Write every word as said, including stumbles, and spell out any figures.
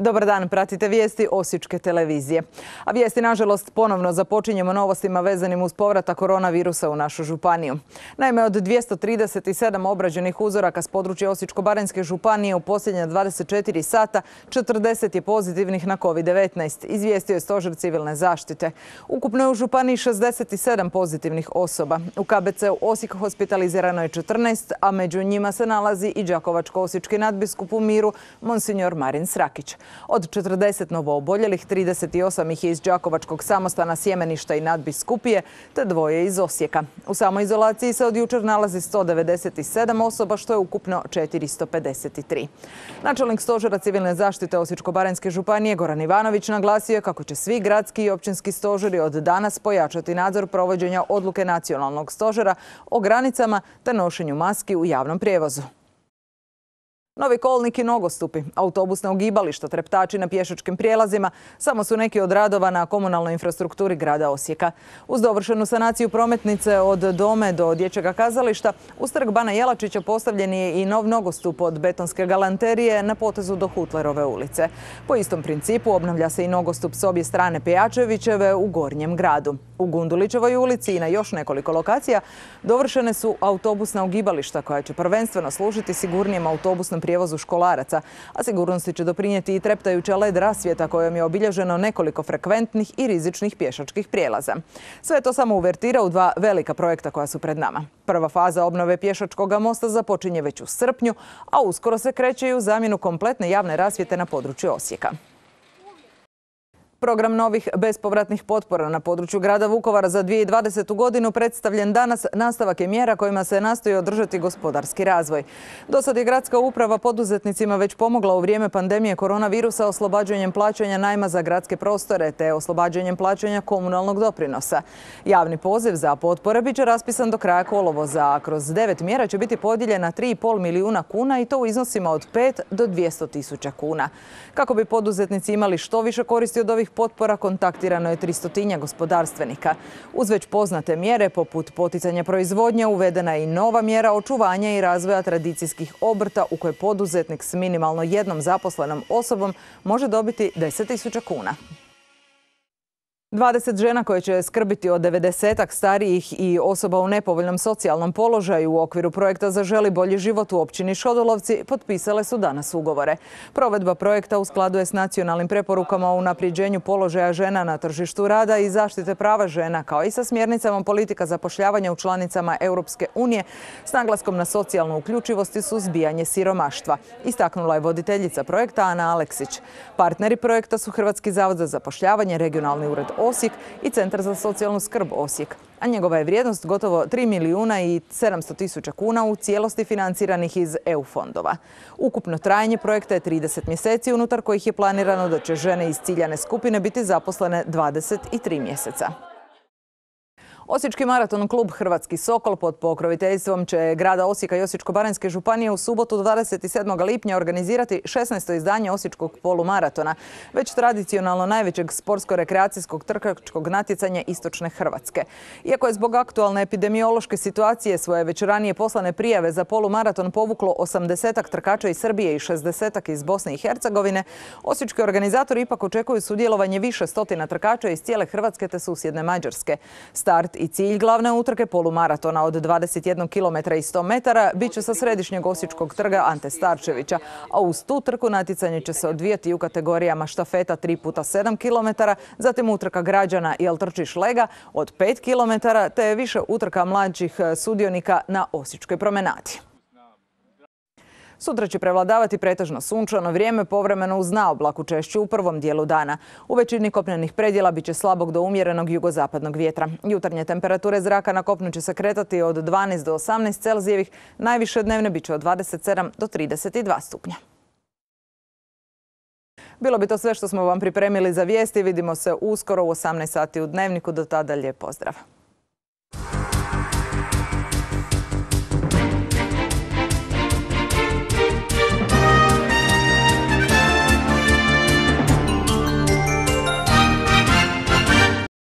Dobar dan, pratite vijesti Osječke televizije. A vijesti, nažalost, ponovno započinjemo novostima vezanim uz povratak koronavirusa u našu županiju. Naime, od dvjesto trideset sedam obrađenih uzoraka s područja Osječko-baranjske županije u posljednja dvadeset četiri sata, četrdeset je pozitivnih na kovid devetnaest, izvijestio je Stožer civilne zaštite. Ukupno je u županiji šezdeset sedam pozitivnih osoba. U K B C-u Osijek hospitalizirano je četrnaest, a među njima se nalazi i đakovačko-osječki nadbiskup u miru, monsignor Marin Srakić. Od četrdeset novooboljelih, trideset osam ih je iz đakovačkog samostana Sjemeništa i nadbiskupije, te dvoje iz Osijeka. U samoizolaciji se od jučer nalazi sto devedeset sedam osoba, što je ukupno četiristo pedeset tri. Načelnik Stožera civilne zaštite Osječko-baranjske županije Goran Ivanović naglasio je kako će svi gradski i općinski stožeri od danas pojačati nadzor provođenja odluke nacionalnog stožera o granicama te nošenju maski u javnom prijevozu. Novi kolnik i nogostupi, autobusna ugibališta, treptači na pješačkim prijelazima samo su neki od radova na komunalnoj infrastrukturi grada Osijeka. Uz dovršenu sanaciju prometnice od Dome do Dječjega kazališta, uz trg Bana Jelačića postavljen je i nov nogostup od betonske galanterije na potezu do Hutlerove ulice. Po istom principu obnavlja se i nogostup s obje strane Pejačevićeve u Gornjem gradu. U Gundulićevoj ulici i na još nekoliko lokacija dovršene su autobusna ugibališta koja će prvenstveno služiti sigurnijem autobusnom prijevozu školaraca, a sigurnosti će doprinijeti i treptajuća led rasvjeta kojom je obilježeno nekoliko frekventnih i rizičnih pješačkih prijelaza. Sve to samo uvertira u dva velika projekta koja su pred nama. Prva faza obnove pješačkog mosta započinje već u srpnju, a uskoro se kreće i u zamjenu kompletne javne rasvjete na području Osijeka. Program novih bespovratnih potpora na području grada Vukovara za dvije tisuće dvadesetu godinu predstavljen danas nastavak je mjera kojima se nastoji održati gospodarski razvoj. Do sad je gradska uprava poduzetnicima već pomogla u vrijeme pandemije koronavirusa oslobađanjem plaćanja najma za gradske prostore te oslobađanjem plaćanja komunalnog doprinosa. Javni poziv za potpore bit će raspisan do kraja kolovoza, a kroz devet mjera će biti podijeljena tri i pol milijuna kuna i to u iznosima od pet do dvjesto tisuća kuna. Kako bi poduzetnici imali što više koristi od ovih potpora, kontaktirano je tristotinja gospodarstvenika. Uz već poznate mjere poput poticanja proizvodnje uvedena je i nova mjera očuvanja i razvoja tradicijskih obrta u kojoj poduzetnik s minimalno jednom zaposlenom osobom može dobiti deset tisuća kuna. dvadeset žena koje će skrbiti o devedesetak starijih i osoba u nepovoljnom socijalnom položaju u okviru projekta Zaželi bolji život u općini Šodolovci potpisale su danas ugovore. Provedba projekta u skladu je s nacionalnim preporukama o unapređenju položaja žena na tržištu rada i zaštite prava žena, kao i sa smjernicama politika zapošljavanja u članicama Europske unije s naglaskom na socijalnu uključivost i suzbijanje siromaštva, istaknula je voditeljica projekta Ana Aleksić. Partneri projekta su Hrvatski zavod za zapošljavanje, Regionalni ured Osijek i Centar za socijalnu skrb Osijek, a njegova je vrijednost gotovo tri milijuna i sedamsto tisuća kuna u cijelosti financiranih iz E U fondova. Ukupno trajanje projekta je trideset mjeseci, unutar kojih je planirano da će žene iz ciljane skupine biti zaposlene dvadeset tri mjeseca. Osječki maraton klub Hrvatski Sokol pod pokroviteljstvom će grada Osijeka i Osječko-baranjske županije u subotu dvadeset sedmog lipnja organizirati šesnaesto izdanje Osječkog polumaratona, već tradicionalno najvećeg sportsko-rekreacijskog trkačkog natjecanja istočne Hrvatske. Iako je zbog aktualne epidemiološke situacije svoje već ranije poslane prijave za polumaraton povuklo osamdesetak trkača iz Srbije i šezdesetak iz Bosne i Hercegovine, osječki organizatori ipak očekuju sudjelovanje više stotina trkača iz cijele Hrvatske te susjedne Mađarske. Start i cilj glavne utrke polumaratona od dvadeset jedan kilometra i sto metara bit će sa središnjeg Osječkog trga Ante Starčevića, a uz tu trku natjecanje će se odvijati u kategorijama štafeta tri puta sedam kilometara, zatim utrka građana Jel trčiš lega od pet kilometara te više utrka mlađih sudionika na Osječkoj promenadi. Sutra će prevladavati pretežno sunčano vrijeme, povremeno uz naoblaku, češće u prvom dijelu dana. U većini kopnenih predjela bit će slabog do umjerenog jugozapadnog vjetra. Jutarnje temperature zraka na kopnu će se kretati od dvanaest do osamnaest Celzijevih, najviše dnevne bit će od dvadeset sedam do trideset dva stupnja. Bilo bi to sve što smo vam pripremili za vijesti. Vidimo se uskoro u osamnaest sati u Dnevniku. Do tada lijep pozdrav.